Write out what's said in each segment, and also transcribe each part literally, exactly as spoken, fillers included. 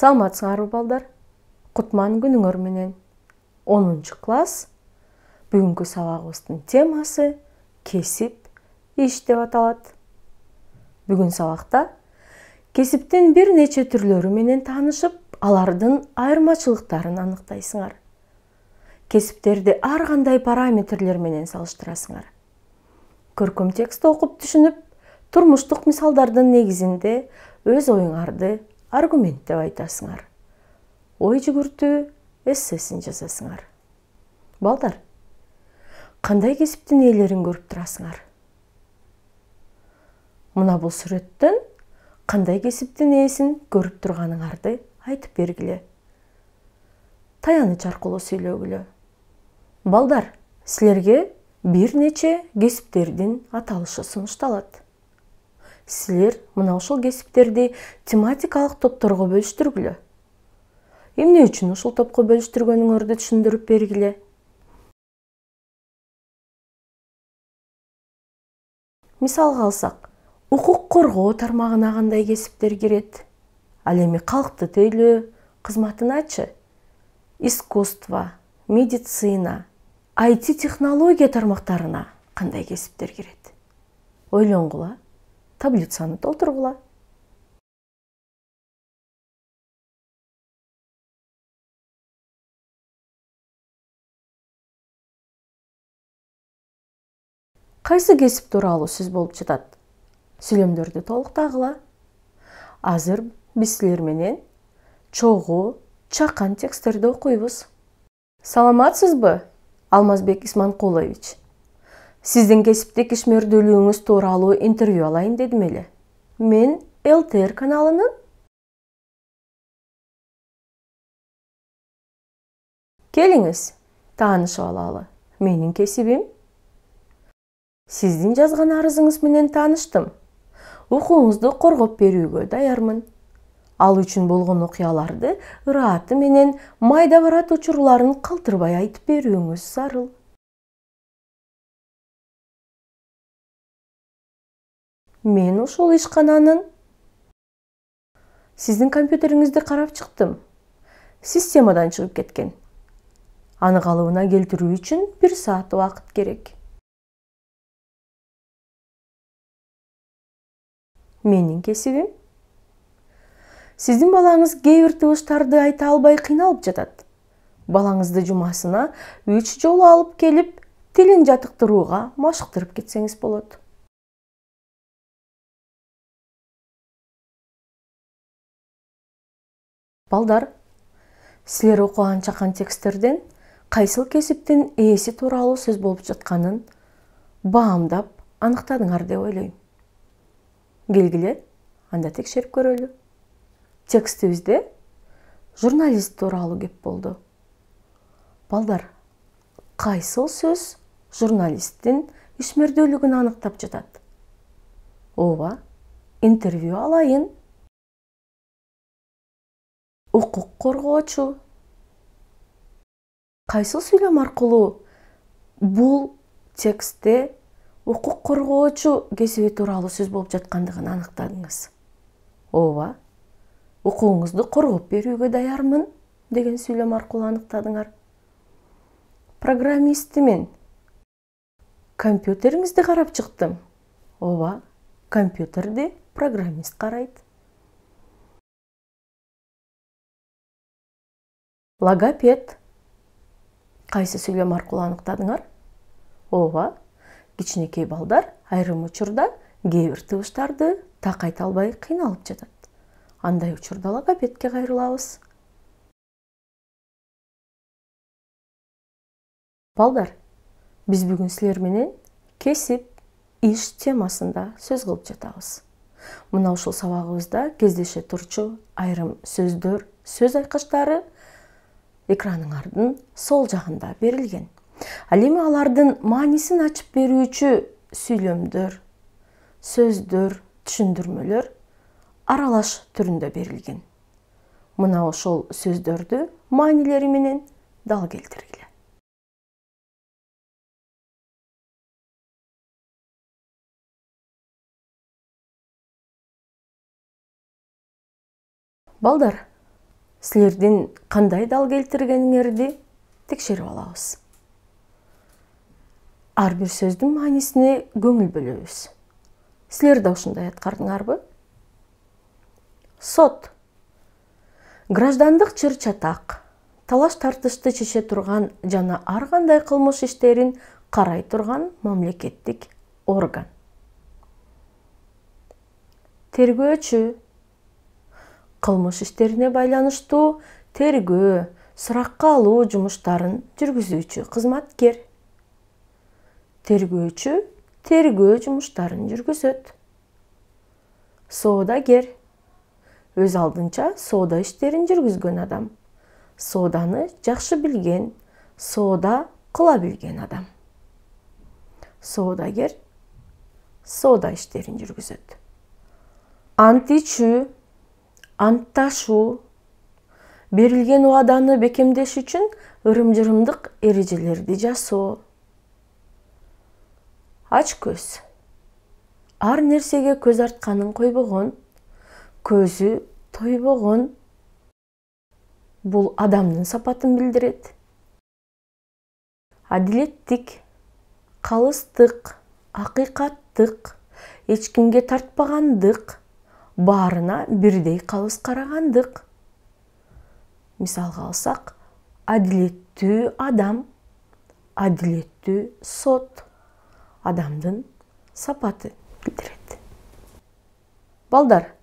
Саламатсыңарбы балдар? Кутман күнүңөр менен. онунчу класс. Бүгүнкү сабагыбыздын темасы кесип, иш деп аталат. Бүгүн сабакта кесиптин бир нече түрлөрү менен таанышып, алардын айырмачылыктарын аныктайсыңар. Кесиптерди ар кандай параметрлер менен салыштырасыңар. Көркөм текстти окуп түшүнүп, турмуштук мисалдардын негизинде өз оюңарды аргументтеп айтасыңар. Ой жүгүртүү эссесин жазасыңар. Балдар, кандай кесиптин ээлерин көрүп турасыңар? Мына бул сүрөттөн кандай кесиптин ээсин көрүп турганыңарды айтып бергиле. Таяныч аркылуу сүйлөгүлө. Балдар, силерге бир нече кесиптердин аталышы сунушталат. Силер мына ушул кесиптерди тематикалык топторго бөлүштүргүлө. Эмне үчүн ушул топко бөлүштүргөнүңөрдү түшүндүрүп бергиле. Мисалга алсак, укук коргоо тармагына кандай кесиптер кирет? Ал эми калкты тейлөө кызматыначы? Искусство, медицина, ай ти технология тармактарына кандай кесиптер кирет? Ойлонгула, таблицаны толтургула. Кайсы кесип тууралуу сөз болуп жатат? Сүйлөмдөрдү толуктагыла. Азыр биз силер менен чогуу, чакан тексттерди окуйбуз. Саламатсызбы, Алмазбек Исманкулович? Сиздин кесиптик ишмердүүлүгүңүз тууралуу интервью алайын дедим эле. Мен эл тэ эр каналынын. Келиңиз, таанышып алалы. Менин кесибим. Сиздин жазган арызыңыз менен тааныштым. Укуңузду коргоп берүүгө даярмын. Ал үчүн болгон окуяларды ырааты менен майда барат учурларын калтырбай айтып берүүңүз зарыл. Мен ушул ишкананын сиздин компьютериңизди карап чыктым. Системадан чыгып кеткен. Аны калыбына келтирүү үчүн бир саат убакыт керек. Менин кесибим. Сиздин балаңыз кээ бир тыбыштарды айта албай кыйналып жатат. Балаңызды жумасына үч жолу алып келип, тилин жатыктырууга машыктырып кетсеңиз болот. Балдар, силер окуган чакан тексттерден кайсыл кесиптин ээси тууралуу сөз болуп жатканын баамдап аныктадыңар деп ойлойм. Келгиле, анда текшерип көрөлү. Текстибизде журналист тууралуу кеп болду. Балдар, кайсыл сөз журналисттин ишмердүүлүгүн аныктап жатат? Ооба, интервью алайын. Укук коргоочу. Кайсыл сүйлөм аркылуу бул текстте укук коргоочу кесиби тууралуу сөз болуп жаткандыгын аныктадыңыз? Ооба, укугуңузду коргоп берүүгө даярмын деген сүйлөм аркылуу аныктадыңар. Программистимин. Компьютериңизди карап чыктым. Ооба, компьютерди программист карайт. Логопед. Кайсы сүйлөм аркылуу аныктадыңар? Ооба, кичинекей балдар айрым учурда кээ бир тыбыштарды так айта албай кыйналып жатат. Андай учурда логопедке кайрылабыз. Балдар, биз бүгүн силер менен кесип, иш темасында сөз кылып жатабыз. Мына ушул сабагыбызда кездеше турчу айрым сөздөр, сөз айкыштары экраныңардын сол жагында берилген. Ал эми алардын маанисин ачып берүүчү сүйлөмдөр, сөздөр, түшүндүрмөлөр аралаш түрүндө берилген. Мына ошол сөздөрдү маанилери менен дал келтиргиле. Балдар, силердин кандай дал келтиргениңерди текшерип алабыз. Ар бир сөздүн маанисине көңүл бөлөбүз. Силер да ушундай аткардыңарбы? Сот. Граждандык чыр-чатак, талаш-тартышты чече турган жана ар кандай кылмыш иштерин карай турган мамлекеттик орган. Тергөөчү. Кылмыш иштерине байланыштуу тергөө, суракка алуу жумуштарын жүргүзүүчү кызматкер. Тергөөчү тергөө жумуштарын жүргүзөт. Соодагер. Өз алдынча соода иштерин жүргүзгөн адам. Сооданы жакшы билген, соода кыла билген адам. Соодагер соода иштерин жүргүзөт. Ант ичүү, антташуу, берилген убаданы бекемдеш үчүн ырым-жырымдык эрежелерди жасоо. Ач көз. Ар нерсеге көз артканын койбогон, көзү тойбогон. Бул адамдын сапатын билдирет. Адилеттик, калыстык, акыйкаттык, эч кимге тартпагандык, баарына бирдей калыс карагандык. Мисалга алсак, адилеттүү адам, адилеттүү сот адамдын сапаты билдирет. Балдар,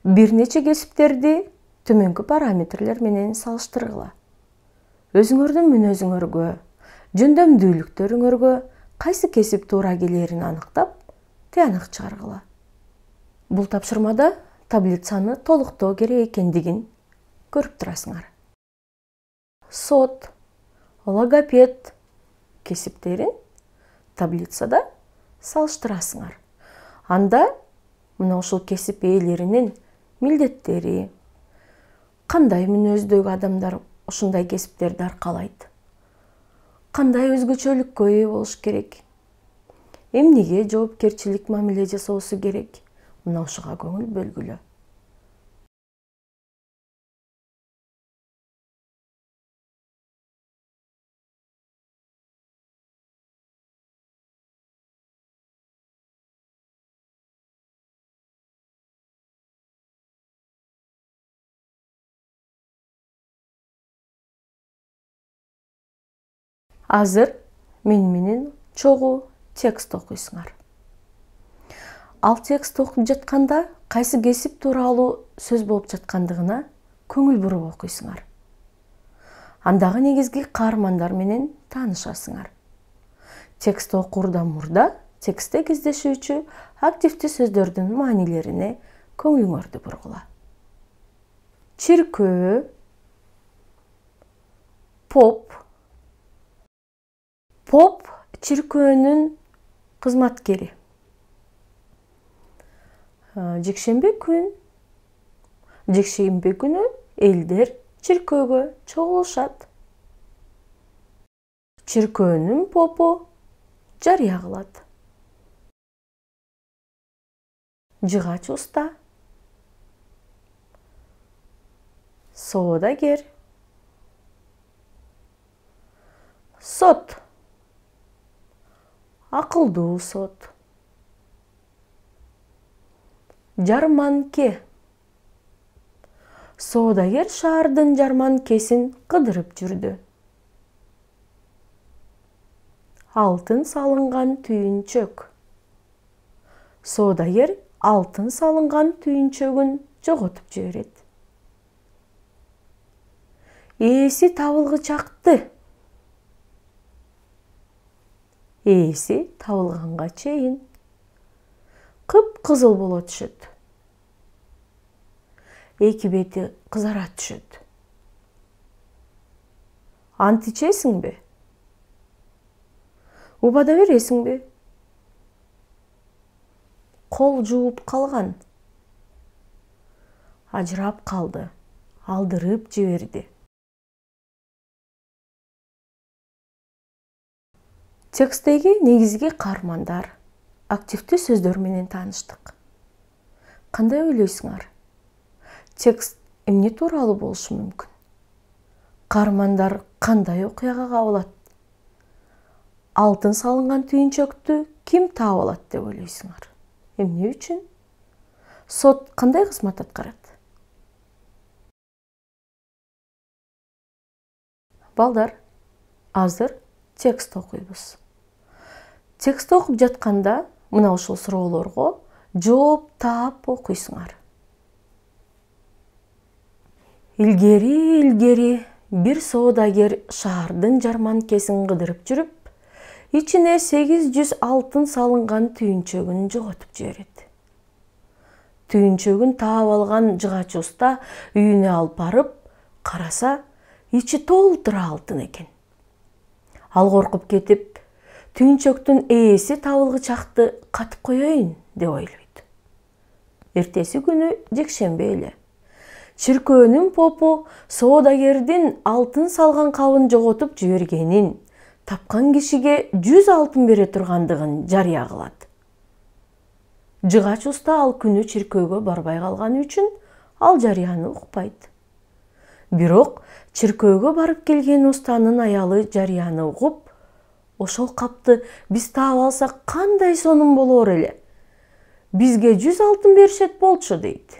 бир нече кесиптерди төмөнкү параметрлер менен салыштыргыла. Өзүңөрдүн мүнөзүңөргө, жөндөмдүүлүктөрүңөргө кайсы кесип туура келерин аныктап, тыянак чыгаргыла. Бул тапшырмада таблицаны толуктоо керек экендигин көрүп турасыңар. Сот, логопед кесиптерин таблицада салыштырасыңар. Анда мына ушул кесип ээлеринин милдеттери, кандай мүнөздөгү адамдар ушундай кесиптерди аркалайт, кандай өзгөчөлүккө ээ болуш керек, эмнеге жоопкерчилик мамиле жасоосу керек, мына ушуга көңүл бөлгүлө. Азыр мен менен чогуу текст окуйсуңар. Ал текст окуп жатканда кайсы кесип тууралуу сөз болуп жаткандыгына көңүл буруп окуйсуңар. Андагы негизги каармандар менен таанышасыңар. Текст окуурдан мурда текстте кездешүүчү активдүү сөздөрдүн маанилерине көңүлүңөрдү бургула. Чиркөө, поп. Поп чиркөөнүн кызматкери. Жекшемби күн, жекшемби күнү элдер чиркөөгө чогулушат. Чиркөөнүн попу жарыя кылат. Жыгач уста. Соодагер. Сот. Акылдуу сот. Жарманке. Соодагер шаардын жарманкесин кыдырып жүрдү. Алтын салынган түйүнчөк. Соодагер алтын салынган түйүнчөгүн жоготуп жиберет. Ээси табылгычакты. Ээси табылганга чейин кып-кызыл боло түшөт. Эки бети кызара түшөт. Ант ичесиңби? Убада бересиңби? Кол жууп калган. Ажырап калды. Алдырып жиберди. Текстеги негизги каармандар, активдүү сөздөр менен тааныштык. Кандай ойлойсуңар? Текст эмне тууралуу болушу мүмкүн? каармандар кандай окуяга кабылат? Алтын салынган түйүнчөктү ким таап алат деп ойлойсуңар? Эмне үчүн? Сот кандай кызмат аткарат? Балдар, азыр текст окуйбуз. Текст окуп жатканда мына ушул суроолорго жооп таап окуйсуңар. Илгери илгери бир соодагер шаардын жарманкесин кыдырып жүрүп, ичине сегиз жүз алтын салынган түйүнчөгүн жоготуп жиберет. Түйүнчөгүн таап алган жыгач уста үйүнө алып барып караса, ичи толтура алтын экен. Ал коркуп кетип, түйүнчөктүн ээси табылгычакты катып коеюн деп ойлойт. Эртеси күнү жекшемби эле. Чиркөөнүн попу соодагердин алтын салган кабын жоготуп жибергенин, тапкан кишиге жүз алтын бере тургандыгын жарыя кылат. Жыгач уста ал күнү чиркөөгө барбай калганы үчүн ал жарыяны укпайт. Бирок чиркөөгө барып келген устанын аялы жарыяны угуп, ошол капты биз таап алсак кандай сонун болор эле? Бизге жүз алтын беришет болчу дейт.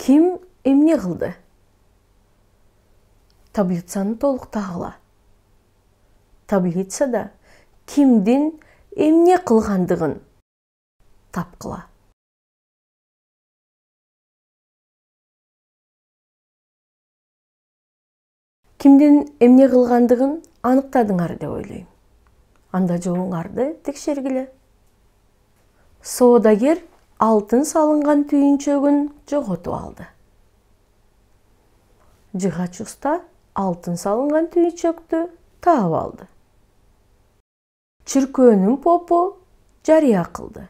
Ким эмне кылды? Таблицаны толуктагыла. Таблицада кимдин эмне кылгандыгын тапкыла. Кимдин эмне кылгандыгын аныктадыңар деп ойлойм. Анда жообуңарды текшергиле. Соодагер алтын салынган түйүнчөгүн жоготуп алды. Жыгач уста алтын салынган түйүнчөктү таап алды. Чиркөөнүн попу жарыя кылды.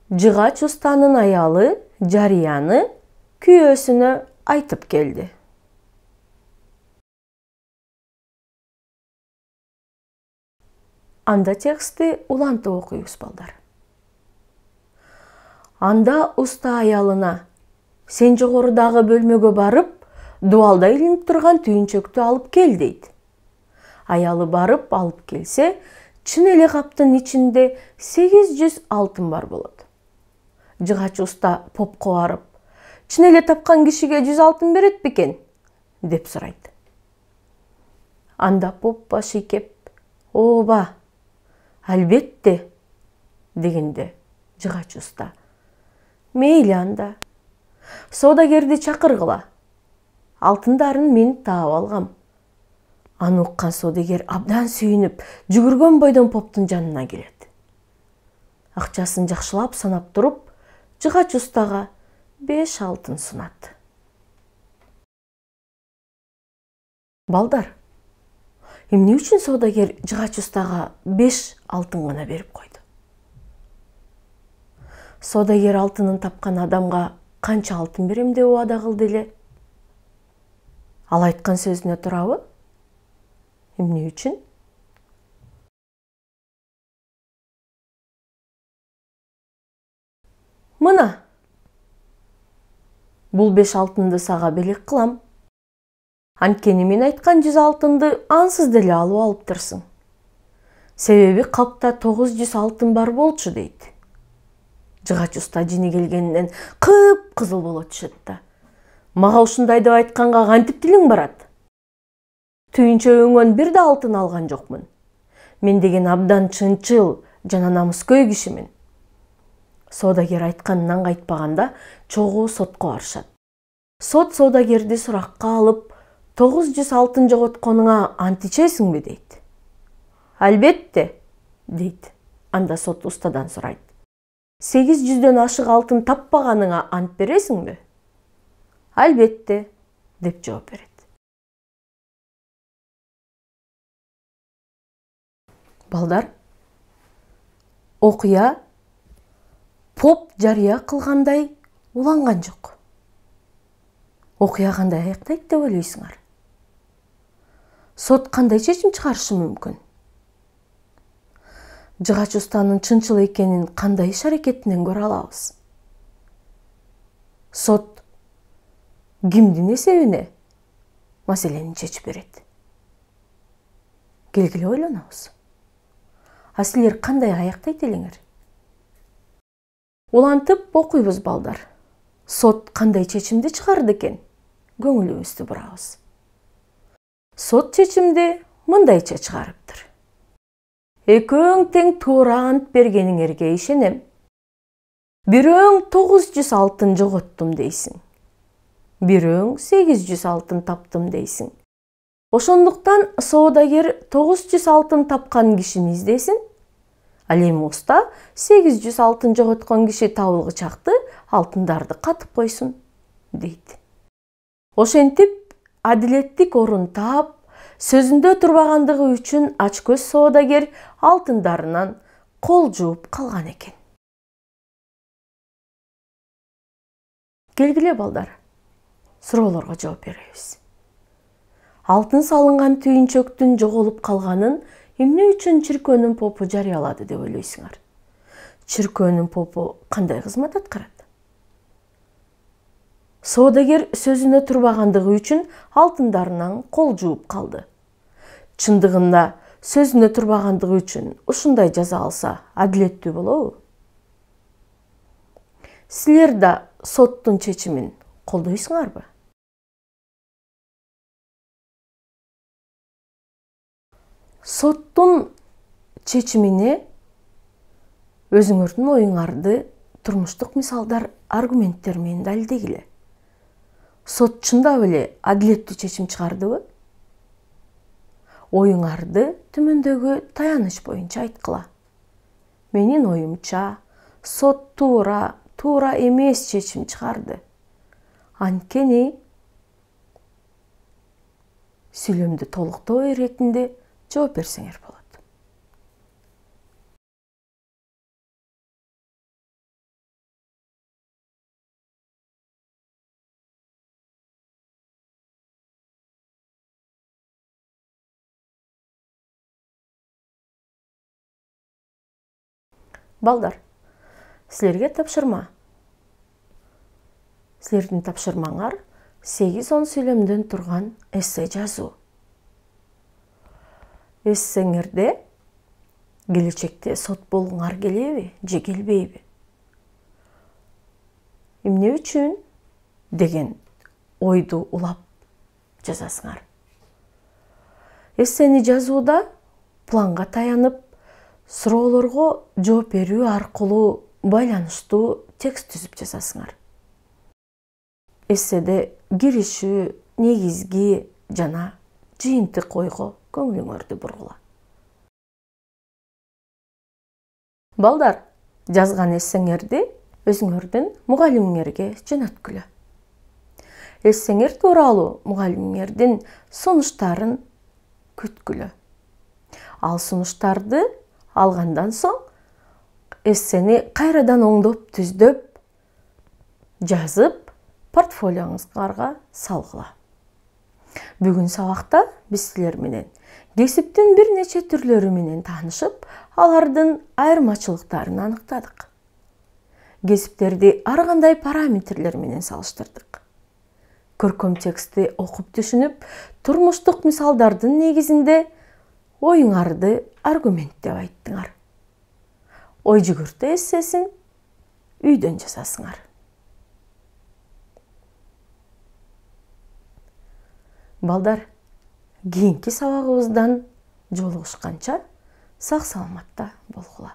Жыгач устанын аялы жарыяны күйөөсүнө айтып келди. Анда текстти улантып окуйбуз, балдар. Анда уста аялына: "Сен жогорудагы бөлмөгө барып, дубалда илинип турган түйүнчөктү алып кел" дейт. Аялы барып алып келсе, чын эле каптын ичинде сегиз жүз алтын бар болот. Жыгач уста попко барып: "Чын эле тапкан кишиге жүз алтын берет бекен?" деп сурайт. Анда поп баш ийкеп: "Ооба, албетте" дегенде, жыгач уста: "Мейли анда. Соодагерди чакыргыла. Алтындарын мен таап алгам." Аны уккан соодагер абдан сүйүнүп, жүгүргөн бойдон поптун жанына келет. Акчасын жакшылап санап туруп, жыгач устага беш алтын сунат. Балдар, эмне үчүн соодагер жыгач устага беш алтын гана берип койду? Соодагер алтынын тапкан адамга канча алтын берем деп убада кылды эле? Ал айткан сөзүнө турабы? Эмне үчүн? Мына, бул беш алтынды сага белек кылам. Анткени мен айткан жүз алтынды ансыз деле алып алыптырсың. Себеби капта тогуз жүз алтын бар болчу дейт. Жыгач уста жини келгенинен кып-кызыл боло түшөт да: "Мага ушундай деп айтканга кантип тилиң барат? Түйүнчөгүңөн бир да алтын алган жокмун. Мен деген абдан чынчыл жана намыскөй кишимин." Соодагер айтканынан кайтпаганда чогуу сотко барышат. Сот соодагерди суракка алып, тогуз жүз алтын жоготконуңа ант ичесиңби дейт. "Албетте" дейт. Анда сот устадан сурайт: "сегиз жүздөн ашык алтын таппаганыңа ант бересиңби?" "Албетте" деп жооп берет. Балдар, окуя поп жарыя кылгандай уланган жок. Окуя кандай аяктайт деп ойлойсуңар? Сот кандай чечим чыгарышы мүмкүн? жыгач устанын чынчыл экенин кандай иш аракетинен көрө алабыз? Сот кимдин эсебине маселени чечип берет? Келгиле ойлонобуз. А силер кандай аяктайт элеңер? Улантып окуйбуз балдар. Сот кандай чечимди чыгарды экен? Көңүлүбүздү бурабыз. Сот чечимди мындайча чыгарыптыр. Экөөң тең туура ант бергениңерге ишенем. Бирөөң тогуз жүз алтын жоготтум дейсиң. Бирөөң сегиз жүз алтын таптым дейсиң. Ошондуктан соодагер тогуз жүз алтын тапкан кишини издесин. Ал эми уста сегиз жүз алтын жоготкон киши табылгычакты алтындарды катып койсун, дейт. Ошентип, адилеттик орун таап, сөзүндө турбагандыгы үчүн ачкөз соодагер алтындарынан кол жууп калган экен. Келгиле балдар, суроолорго жооп беребиз. Алтын салынган түйүнчөктүн жоголуп калганын эмне үчүн чиркөөнүн попу жарыялады деп ойлойсуңар? Чиркөөнүн попу кандай кызмат аткарат? Соодагер сөзүнө турбагандыгы үчүн алтындарынан кол жууп калды. Чындыгында сөзүнө турбагандыгы үчүн ушундай жаза алса, адилеттүү болобу? Силер да соттун чечимин колдойсуңарбы? Соттун чечимине өзүңөрдүн оюңарды турмуштук мисалдар, аргументтер менен далилдегиле. Сот чындап эле адилеттүү чечим чыгардыбы? Оюңарды төмөндөгү таяныч боюнча айткыла. Менин оюмча, сот туура, туура эмес чечим чыгарды. Анткени сүйлөмдү толуктоо иретинде жооп берсеңер болот. Балдар, силерге тапшырма. Силердин тапшырмаңар сегиз он сүйлөмдөн турган эссе жазуу. Эссеңерде келечекте сот болгуңар келеби же келбейби? Эмне үчүн деген ойду улап жазасыңар. Эссени жазууда планга таянып, суроолорго жооп берүү аркылуу байланыштуу текст түзүп жазасыңар. Эсседе киришүү, негизги жана жыйынтык ойго көңүлүңөрдү бургула. Балдар, жазган эссеңерди өзүңөрдүн мугалимиңерге жөнөткүлө. Эссеңер тууралуу мугалимиңердин сунуштарын күткүлө. Ал сунуштарды алгандан соң эссени кайрадан оңдоп, түздөп, жазып, портфолиоңузга салгыла. Бүгүн сабакта биз силер менен кесиптин бир нече түрлөрү менен таанышып, алардын айырмачылыктарын аныктадык. Кесиптерди ар кандай параметрлер менен салыштырдык. Көркөм текстти окуп түшүнүп, турмуштук мисалдардын негизинде оюңарды аргументтеп айттыңар. Ой жүгүртүү эссесин үйдөн жазасыңар. Балдар, кийинки сабагыбыздан жолугушканча сак саламатта болгула.